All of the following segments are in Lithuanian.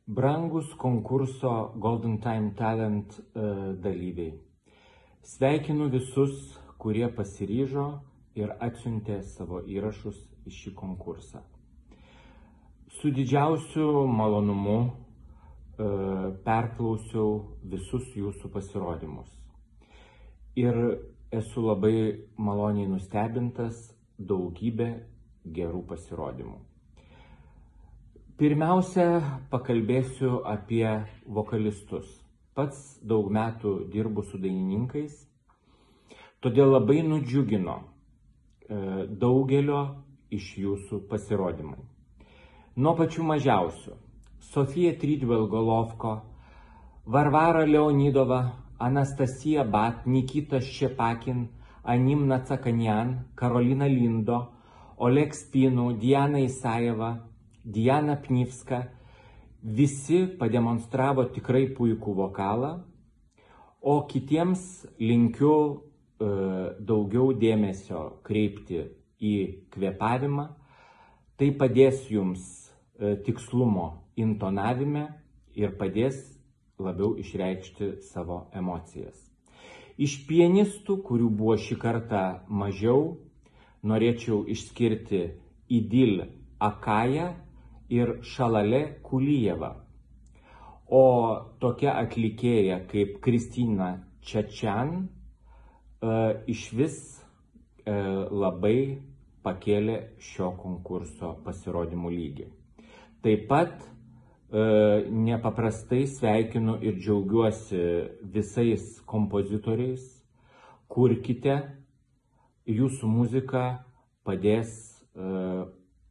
Brangus konkurso Golden Time Talent dalyviai. Sveikinu visus, kurie pasiryžo ir atsiuntė savo įrašus į šį konkursą. Su didžiausiu malonumu perklausiau visus jūsų pasirodymus. Ir esu labai maloniai nustebintas daugybė gerų pasirodymų. Pirmiausia, pakalbėsiu apie vokalistus. Pats daug metų dirbu su dainininkais, todėl labai nudžiugino daugelio iš jūsų pasirodymai. Nuo pačių mažiausių: Sofija Trydvel-Golovko, Varvara Leonidova, Anastasija Bat, Nikita Ščepakin, Anim Nacakanyan, Karolina Lindo, Oleg Spinu, Diana Isajeva, Diana Pnivska. Visi pademonstravo tikrai puikų vokalą, o kitiems linkiu daugiau dėmesio kreipti į kvėpavimą. Tai padės jums tikslumo intonavime ir padės labiau išreikšti savo emocijas. Iš pianistų, kurių buvo šį kartą mažiau, norėčiau išskirti Idil Akaja ir Šalale Kulijeva. O tokia atlikėja kaip Kristina Čačan išvis labai pakėlė šio konkurso pasirodymų lygį. Taip pat nepaprastai sveikinu ir džiaugiuosi visais kompozitoriais. Kurkite, jūsų muzika padės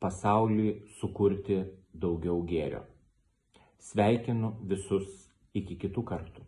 pasaulį sukurti daugiau gėrio. Sveikinu visus, iki kitų kartų.